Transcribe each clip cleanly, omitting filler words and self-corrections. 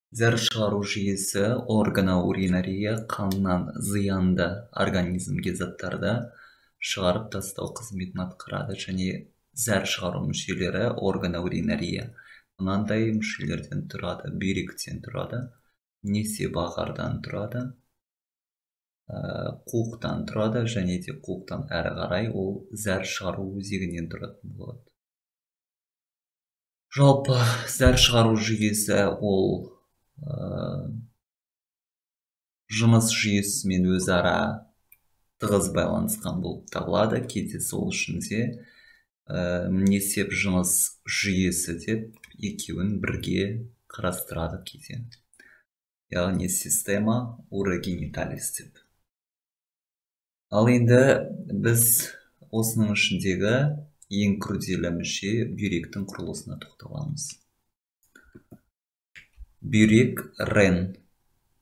Зәр шығару жүйесі органоуринария қаннан зиянды организмге заттарды шығарып тастау қызметін атқарады және зәр шығару мүшелері органоуринария мынандай мүшелерден тұрады: бүйректен тұрады, несеп ағардан тұрады, қуықтан тұрады және де қуықтан әрі қарай ол зәр шығару өзегінен тұратын болады. Жалпы зәр шығару жүйесі ол жыныс жүйесімен өзара тығыз байланысқан болып табылады. Кейде сол үшін де несеп жыныс жүйесі деп екеуін бірге қарастырады кейде. Яғни система урогениталис деп. Ал енді біз осының ішіндегі ең күрделі мүше бүйректің құрылысына тоқталамыз. Бүйрек рен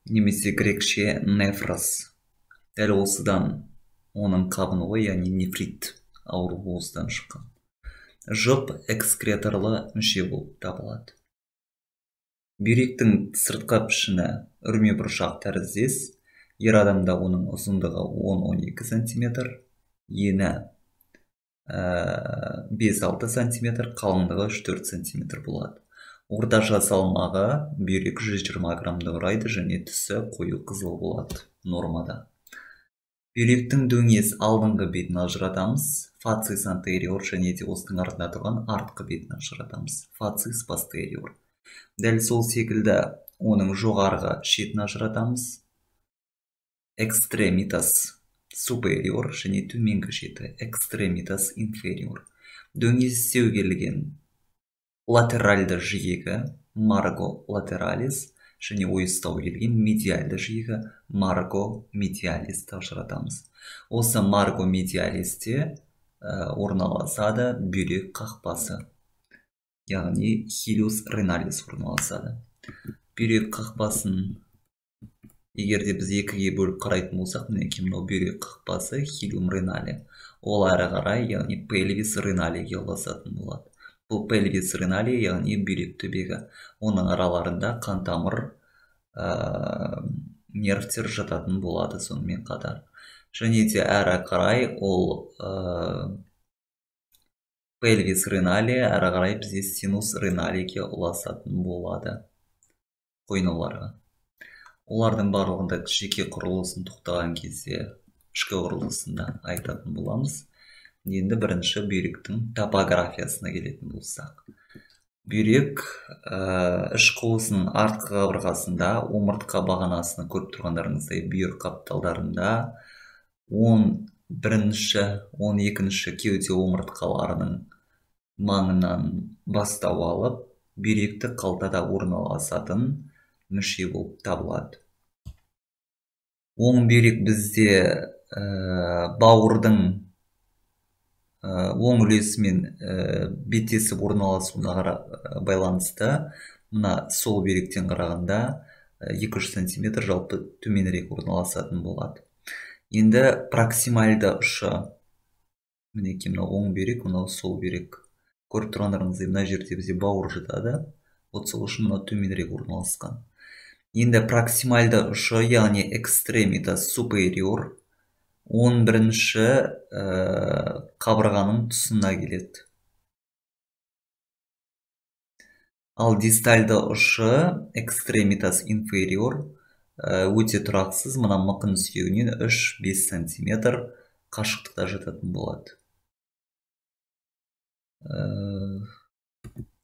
немесе грекше нефрос. Дәл осыдан оның қабынуы, яғни нефрит ауруы осыдан шыққан. Жұп экскреторлы мүше болып табылады. Бүйректің сыртқы пішіні үрме бұршақ тәріздес. Ер адамда оның ұзындығы 10-12 см, ені 5-6 см, қалыңдығы 3-4 см болады. Орташа салмағы бүйрек 120 граммды құрайды және түсі қою қызыл болады нормада. Бүйректің дөңес алдыңғы бетін ажыратамыз, фацис антериор және де осының артында тұрған артқы бетін ажыратамыз, фацис постериор. Дәл сол секілді оның жоғарғы шетін ажыратамыз, экстремитас супериор және төменгі шеті, экстремитас инфериор. Дөңестеу келген латеральды жиегі, марго латералис және ойыстау келген медиальды жиегі, марго медиалисті ажыратамыз. Осы марго медиалисте орналасады бүйрек қақпасы, яғни хилиус реналис орналасады. Бүйрек қақпасын егерде біз екіге бөліп қарайтын болсақ, мінекей мынау бүйрек қақпасы хилиум ренале. Ол әрі қарай, яғни пельвис реналиге ұласатын болады. Бұл пельвис ренале, яғни бүйрек төбегі. Оның араларында қан тамыр, нервтер жататын болады сонымен қатар. Және де әрі қарай ол пельвис ренале әрі қарай бізде синус реналиге ұласатын болады қойнуларға. Олардың барлығында жеке құрылысын тоқтаған кезде ішкі құрылысында айтатын боламыз. Енді бірінші бүйректің топографиясына келетін болсақ. Бүйрек іш қуысының артқы қабырғасында омыртқа бағанасını көріп тұрғандарыңыздай бүйір қапталдарында 11-ші, 12-ші кеуде омыртқаларының маңынан бастау алып, бүйректі қалтада орналасатын мүше болып табылады. Оң бүйрек бізде бауырдың оң үлесімен беттесіп орналасуына байланысты, мына сол бүйректен қарағанда 2-3 см жалпы төменірек орналасатын болады. Енді проксимальды ұшы, мінекей мынау оң бүйрек, мынау сол бүйрек. Көріп тұрғандарыңыздай мына жерде бізде бауыр жатады, от сол үшін мынау төменірек орналасқан. Енді проксимальды ұшы, яғни экстремитас супериор 11-ші қабырғаның тұсына келеді. Ал дистальды ұшы, экстремитас инфериор, өте тұрақсыз, мына мықын сүйегінен 3-5 см қашықтықта жататын болады.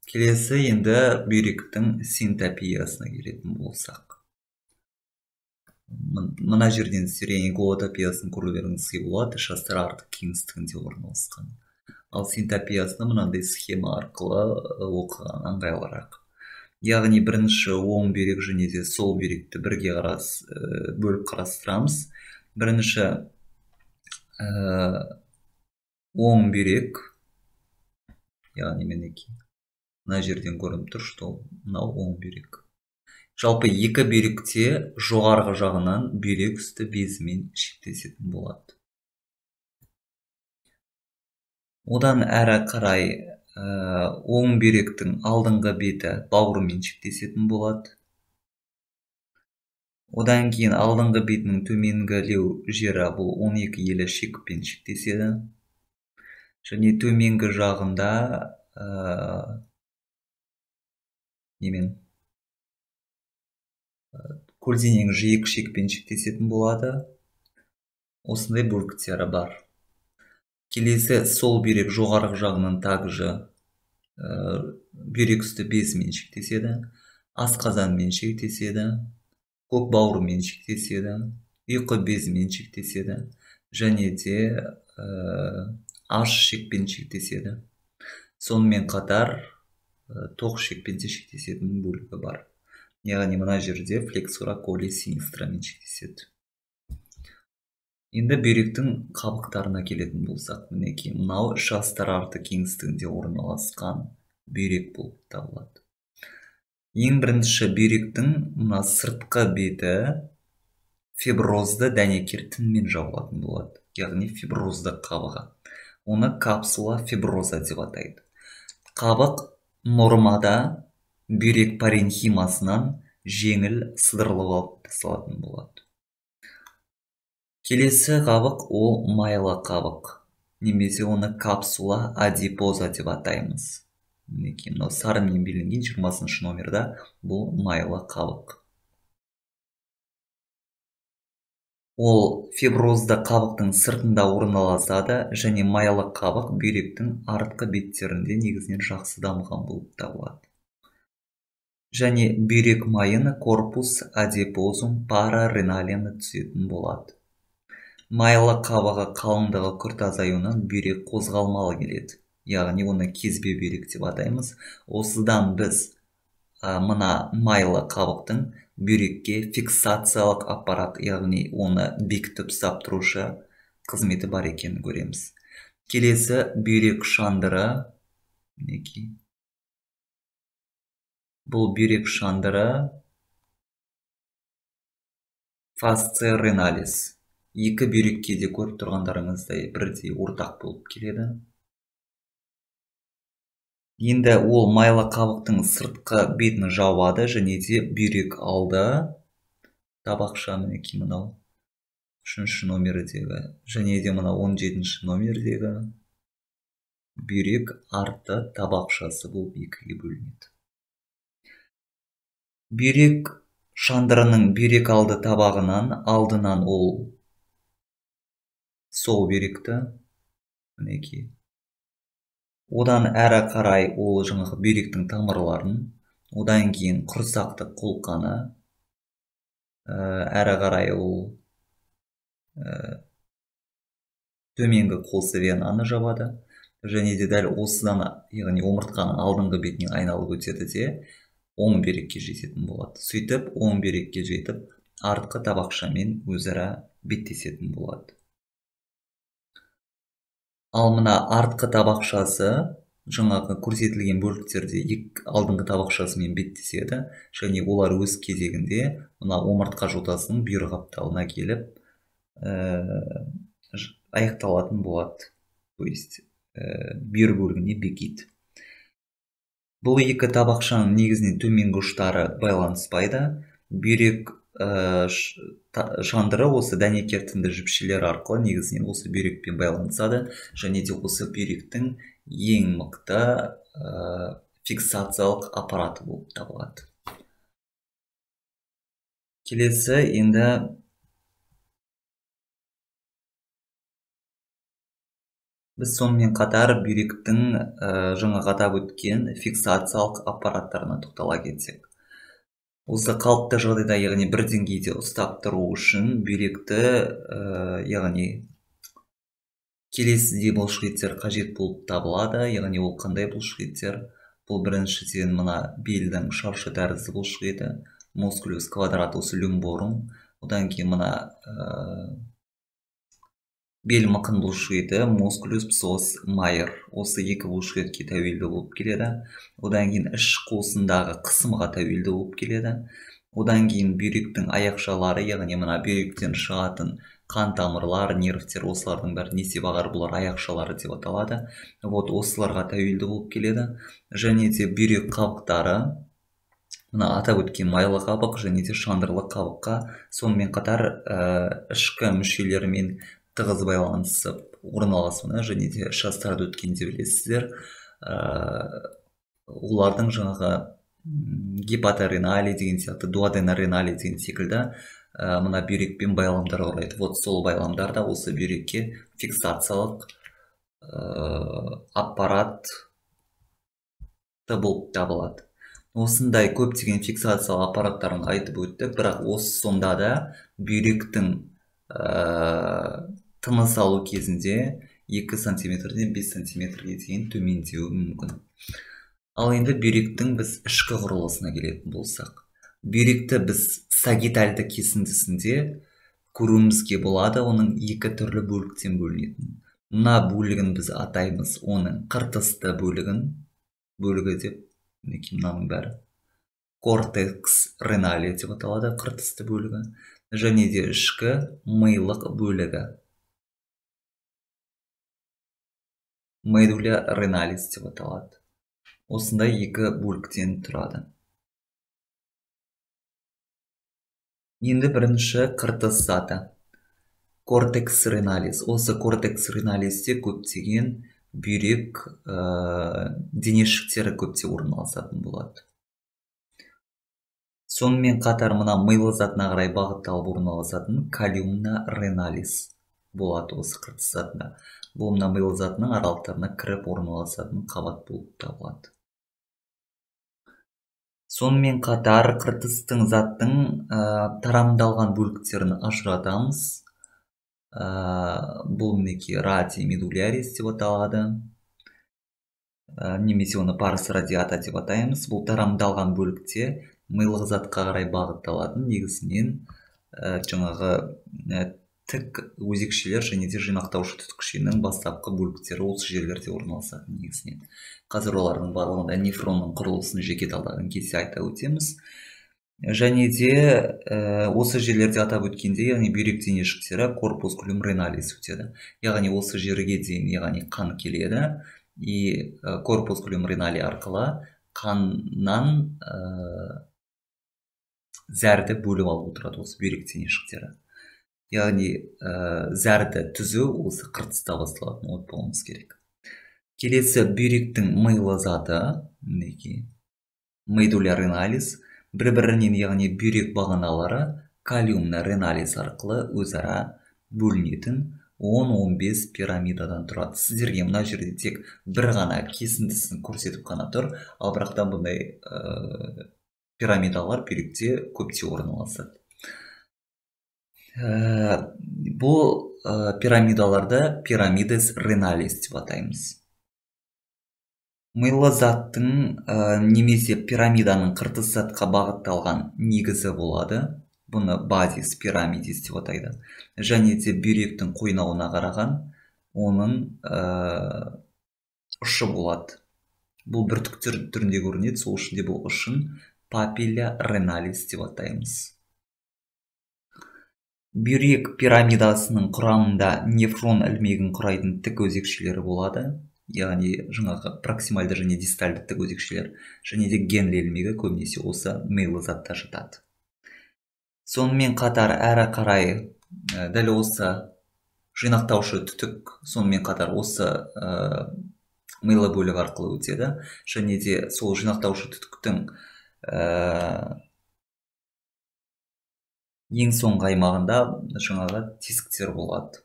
Келесі енді бүйректің синтопиясына келетін болсақ. Мына жерден голотопиясын көрулеріңізге болады, іш астар артық кеңістігінде орналасқан. Ал синтопиясына мынандай схема арқылы оқыған ыңғайлырақ. Яғни бірінші оң бүйрек және де сол бүйректі бірге бөліп қарастырамыз. Бірінші оң бүйрек, яғни мінекей мына жерден көрініп тұр, что мынау оң бүйрек. Жалпы екі бүйректе жоғарғы жағынан бүйрек үсті безімен шектесетін болады. Одан әрі қарай оң бүйректің алдыңғы беті бауырмен шектесетін болады. Одан кейін алдыңғы бетінің төменгілеу жері бұл 12 елі шекпен шектеседі. Және төменгі жағында көлденең жиек шекпен шектесетін болады. Осындай бөліктері бар. Келесі сол бүйрек жоғарғы жағынан также бүйрек үсті безімен шектеседі, асқазанмен шектеседі, көк бауырмен шектеседі, ұйқы безімен шектеседі, және де аш шекпен шектеседі. Сонымен қатар тоқ шекпен де шектесетін бөлігі бар. Яғни мына жерде флексура коли синистрамен шектеседі. Енді бүйректің қабықтарына келетін болсақ, мінекей мынау жастар арты кеңістігінде орналасқан бүйрек болып табылады. Ең бірінші бүйректің мына сыртқы беті фиброзды дәнекер тінмен жабылатын болады. Яғни фиброзды қабығы. Оны капсула фиброза деп атайды. Қабық нормада бүйрек паренхимасынан жеңіл сыдырылып алып тасталатын болады. Келесі қабық ол майлы қабық. Немесе оны капсула адипоза деп атаймыз. Мінекей мынау сарымен белгіленген 20 номерда бұл майлы қабық. Ол фиброзды қабықтың сыртында орналасады және майлы қабық бүйректің артқы беттерінде негізінен жақсы дамыған болып табылады. Және бүйрек майын корпус адипозум парареналияны түсетін болады. Майлы қабығы қалыңдығы күрт азаюынан бүйрек қозғалмалы келеді. Яғни оны кезбе бүйрек деп атаймыз. Осыдан біз мына майлы қабықтың бүйрекке фиксациялық аппарат, яғни оны бекітіп ұстап тұрушы қызметі бар екенін көреміз. Келесі бүйрек шандыры. Бұл бүйрек шандыры фасция реналис. Екі бүйрекке де көріп тұрғандарыңыздай бірдей ортақ болып келеді. Енді ол майлы қабықтың сыртқы бетін жабады және де бүйрек алды табақша мінекей мынау 3-ші номердегі және де мына 17-ші номердегі бүйрек арты табақшасы болып екіге бөлінеді. Бүйрек шандырының бүйрек алды табағынан алдынан ол сол бүйректі мінекей. Одан әрі қарай ол жаңағы бүйректің тамырларын, одан кейін құрсақты қолқаны, әрі қарай ол төменгі қосы венаны жабады, және де дәл осыдан, яғни омыртқаның алдыңғы бетіне айналып өтеді де оң бүйрекке жететін болады. Сөйтіп, оң бүйрекке жетіп, артқы табақшамен өзара беттесетін болады. Ал мына артқы табақшасы жаңағы көрсетілген бөліктерде алдыңғы табақшасымен беттеседі, және олар өз кезегінде мына омыртқа жотасының бүйір қапталына келіп аяқталатын болады. То есть бүйір бөлігіне бекиді. Бұл екі табақшаның негізінен төменгі ұштары байланыспайды. Бүйрек шандыры осы дәнекер тінді жіпшелер арқылы негізінен осы бүйрекпен байланысады, және де осы бүйректің ең мықты фиксациялық аппараты болып табылады. Келесі енді біз сонымен қатар бүйректің жаңа атап өткен фиксациялық аппараттарына тоқтала кетсек. Осы қалыпты жағдайда, яғни бір деңгейде ұстап тұру үшін бүйректі, яғни келесідей бұлшықеттер қажет болып табылады. Яғни ол қандай бұлшықеттер? Бұл біріншіден мына белдің шаршы тәрізді бұлшықеті, мускулюс квадратус люмборум. Одан кейін мына бел мықын бұлшықеті, мускулюс псос майер. Осы екі бұлшықетке тәуелді болып келеді. Одан кейін іш қуысындағы қысымға тәуелді болып келеді. Одан кейін бүйректің аяқшалары, яғни мына бүйректен шығатын қан тамырлар, нервтер, осылардың бәрі не деп ағар, бұлар аяқшалары деп аталады. Осыларға тәуелді болып келеді. Және де бүйрек қабықтары мына атап өткен майлы қабық және де шандырлы қабыққа сонымен қатар ішкі мүшелерімен тығыз байланысып орналасуына және де шастарды өткенде білесіздер, олардың жаңағы гепаторенали деген сияқты, дуоденоренали деген секілді мына бүйрекпен байламдар құрайды. Вот сол байламдар да осы бүйрекке фиксациялық аппарат болып табылады. Осындай көптеген фиксациялық аппараттарын айтып өттік, бірақ осы сонда да бүйректің тыныс алу кезінде 2 сантиметрден 5 сантиметрге дейін төмендеуі мүмкін. Ал енді бүйректің біз ішкі құрылысына келетін болсақ, бүйректі біз сагитальды кесіндісінде көруімізге болады, оның 2 түрлі бөліктен бөлінетін. Мына бөлігін біз атаймыз оның қыртысты бөлігі деп, мынаның бәрі кортекс ренали деп аталады, қыртысты бөлігі, және де ішкі мыйлық бөлігі медуля реналис деп аталады. Осындай 2 бөліктен тұрады. Енді бірінші қыртыс заты кортекс реналис. Осы кортекс реналисте көптеген бүйрек денешіктері көпте орналасатын болады. Сонымен қатар мына мыйлы затына қарай бағытталып орналасатын калиумна реналис болады осы қыртыс затында. Бұл мына мыйлы затының аралықтарына кіріп орналасатын қабат болып табылады. Сонымен қатар қыртыстың заттың тарамдалған бөліктерін ажыратамыз. Бұл мінекей радий медулярис деп аталады, немесе оны парс радиата деп атаймыз. Бұл тарамдалған бөлікте мыйлық затқа қарай бағытталатын негізінен жаңағы тік өзекшелер және де жинақтаушы түтікшенің бастапқы бөліктері осы жерлерде орналасатын негізінен. Қазір олардың барлығында нефронның құрылысын жеке талдаған кезде айта өтеміз. Және де осы жерлерде атап өткенде, яғни бүйрек денешіктері корпускулум реналис өтеді. Яғни осы жерге дейін, яғни қан келеді, и корпускулум ренали арқылы қаннан зәрді бөліп алып отырады осы бүйрек денешіктері. Яғни зәрді түзу осы қыртыста басталатын от болуымыз керек. Келесі бүйректің мыйлы заты, медуля реналис, бір-бірінен, яғни бүйрек бағаналары калиумна реналис арқылы өзара бөлінетін 10-15 пирамидадан тұрады. Сіздерге мына жерде тек бір ғана кесіндісін көрсетіп қана тұр, ал бірақтан бұндай пирамидалар бүйректе көпте орналасады. Бұл пирамидаларды пирамидес реналис деп атаймыз. Мыйлы заттың немесе пирамиданың қыртыс затқа бағытталған негізі болады. Бұны базис пирамидис деп атайды. Және де бүйректің қойнауына қараған оның ұшы болады. Бұл бүртіктер түрінде көрінеді, сол үшін де бұл ұшын папилля реналис деп атаймыз. Бүйрек пирамидасының құрамында нефрон ілмегін құрайтын тік өзекшелері болады. Яғни жаңағы проксимальды және дистальды тік өзекшелер, және де генли ілмегі көбінесе осы мыйлы затта жатады. Сонымен қатар әрі қарай дәл осы жинақтаушы түтік, сонымен қатар осы мыйлы бөлік арқылы өтеді, және де сол жинақтаушы түтіктің ең соңғы аймағында жаңағы тесіктер болады.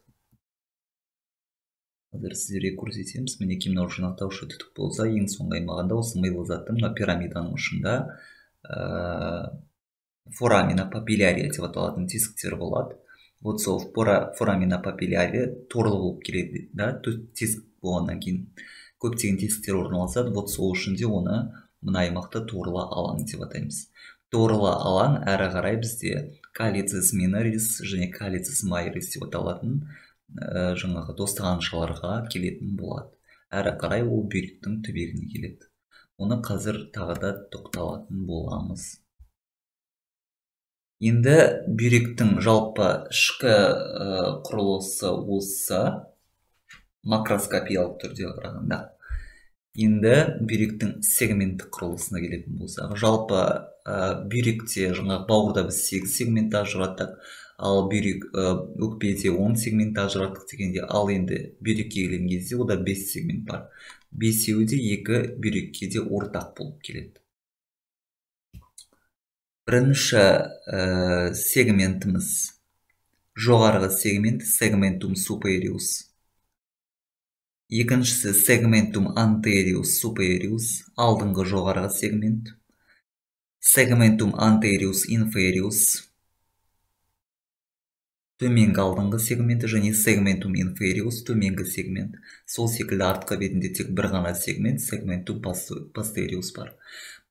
Қазір сіздерге көрсетеміз. Мінекей мынау жинақтаушы түтік болса, ең соңғы аймағында осы мыйлы заттың мына пирамиданың ұшында форамина папиллярия деп аталатын тесіктер болады. Вот сол форамина папиллярия торлы болып келеді, тесік болғаннан кейін көптеген тесіктер орналасады. Вот сол үшін де оны мына аймақты торлы алаң деп атаймыз. Торлы алаң әрі қарай бізде калицис минорис және калицис майорис деп аталатын жаңағы достағаншыларға келетін болады. Әрі қарай ол бүйректің түбегіне келеді. Оны қазір тағы да тоқталатын боламыз. Енді бүйректің жалпы ішкі құрылысы осы макроскопиялық түрде қарағанда. Енді бүйректің сегменттік құрылысына келетін болсақ, жалпы бүйректе жаңағы бауырда біз 8 сегмент ажыраттық, ал бүйрек өкпеде 10 сегмент ажыраттық дегенде, ал енді бүйрекке келген кезде ода 5 сегмент бар. Бесеуі де екі бүйрекке де ортақ болып келеді. Бірінші сегментіміз жоғарғы сегмент, сегментум superius. Екіншісі сегментум anterius superius, алдыңғы жоғарғы сегмент. Сегментум anterius inferius, төменгі алдыңғы сегменті, және сегментум inferius, төменгі сегмент. Сол секілді артқы бетінде тек бір ғана сегмент, сегментум posterius бар.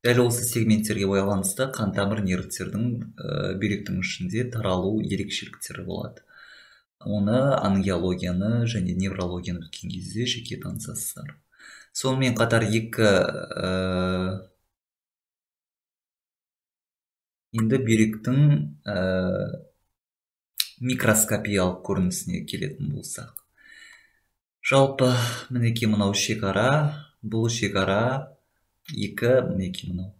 Дәл осы сегменттерге байланысты қан тамыр нервтердің бүйректің ішінде таралу ерекшеліктері болады. Оны ангиологияны және неврологияны өткен кезде жеке танысасыздар. Сонымен қатар енді бүйректің микроскопиялық көрінісіне келетін болсақ. Жалпы мінекей мынау шекара, бұл шекара мінекей мынау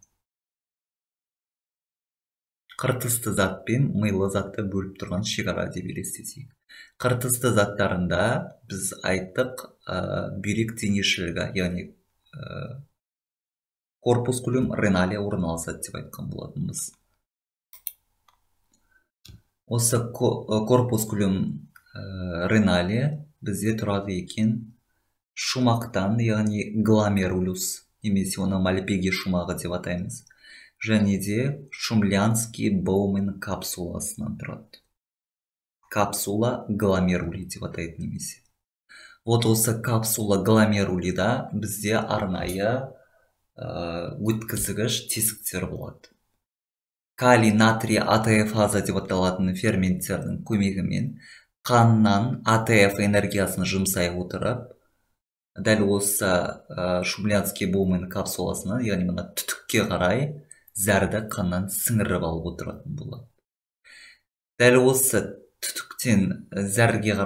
қыртысты зат пен майлы затты бөліп тұрған шекара деп елестетейік. Қыртысты заттарында біз айттық бүйрек денешілігі, яғни корпускулум реналия орналасады деп айтқан болатынбыз. Осы корпускулум реналия бізде тұрады екен шумақтан, яғни гломерулюс, немесе оны мальпиги шумағы деп атаймыз. Және де шумлянский боумен капсуласынан тұрады. Капсула гломерули деп атайды немесе. Вот осы капсула гломерулида бізде арнайы өткізгіш тесіктер болады. Калий натрий АТФаза деп аталатын ферменттердің көмегімен қаннан АТФ энергиясын жұмсай отырып, дәл осы шумлянский боумен капсуласынан, яғни мына түтікке қарай зәрді қаннан сіңіріп алып отыратын болады. Дәл осы түтіктен зәрді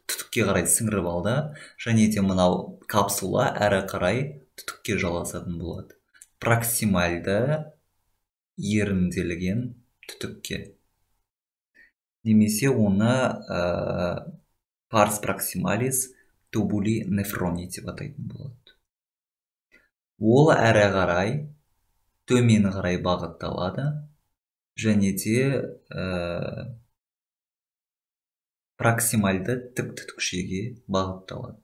түтікке қарай сіңіріп алды, және де мынау капсула әрі қарай түтікке жалғасатын болады. Проксимальды ерімделген түтікке. Немесе оны парс проксималис тубули нефрони деп атайтын болады. Ол әрі қарай төмен қарай бағытталады, және де проксимальды тік түтікшеге бағытталады.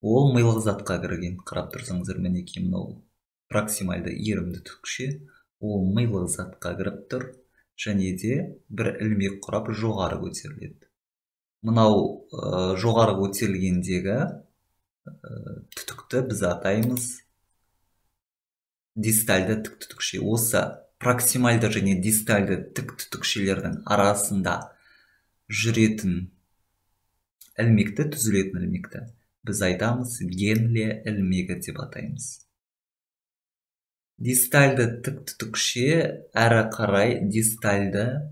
Ол майлық затқа кірген, қарап тұрсаңыздар, мінекей мынау проксимальды ерімді түтікше, ол майлық затқа кіріп тұр, және де бір ілмек құрап жоғары көтеріледі. Мынау жоғары көтерілгендегі түтікті біз атаймыз дистальды тік түтікше. Осы проксимальды және дистальды тік түтікшелердің арасында жүретін ілмекті, түзілетін ілмекті біз айтамыз генлия ілмегі деп атаймыз. Дистальды тік түтікше әрі қарай дистальды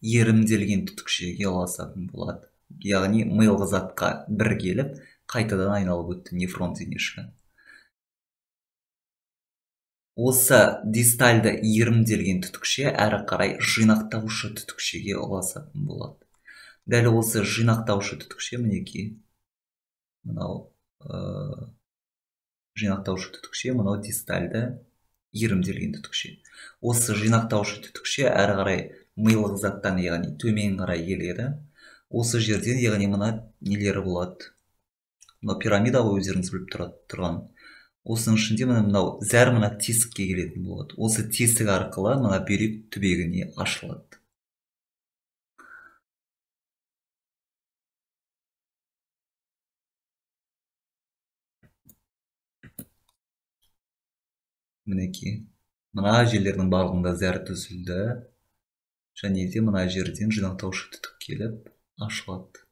ерімделген түтікшеге ұласатын болады. Яғни майлық затқа бір келіп, қайтадан айналып өтті нефрон денешігі. Осы дистальды ерімделген түтікше әрі қарай жинақтаушы түтікшеге ұласатын болады. Дәл осы жинақтаушы түтікше мінекей мынау жинақтаушы түтікше, мынау дистальды ерімделген түтікше. Осы жинақтаушы түтікше әрі қарай майлық заттан, яғни төмен қарай келеді. Осы жерден, яғни мына нелері болады. Мынау пирамида ғой, өздеріңіз біліп тұрған. Осының ішінде мынау зәр мына тесікке келетін болады. Осы тесік арқылы мына бүйрек түбегіне ашылады. Мінекей, мына жерлердің барлығында зәр түзілді, және де мына жерден жинақтаушы түтік келіп ашылады.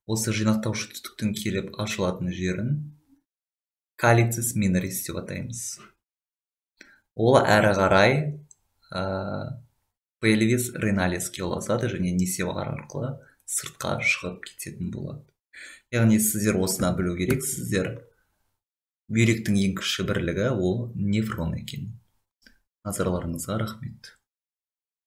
Осы жинақтаушы түтіктің келіп ашылатын жерін калицис минорис деп атаймыз. Ол әрі қарай пельвис реналиске ұласады, және несепар арқылы сыртқа шығып кететін болады. яғни сіздер осыны білу керексіздер. Бүйректің ең кіші бірлігі ол нефрон екен. Назарларыңызға рахмет.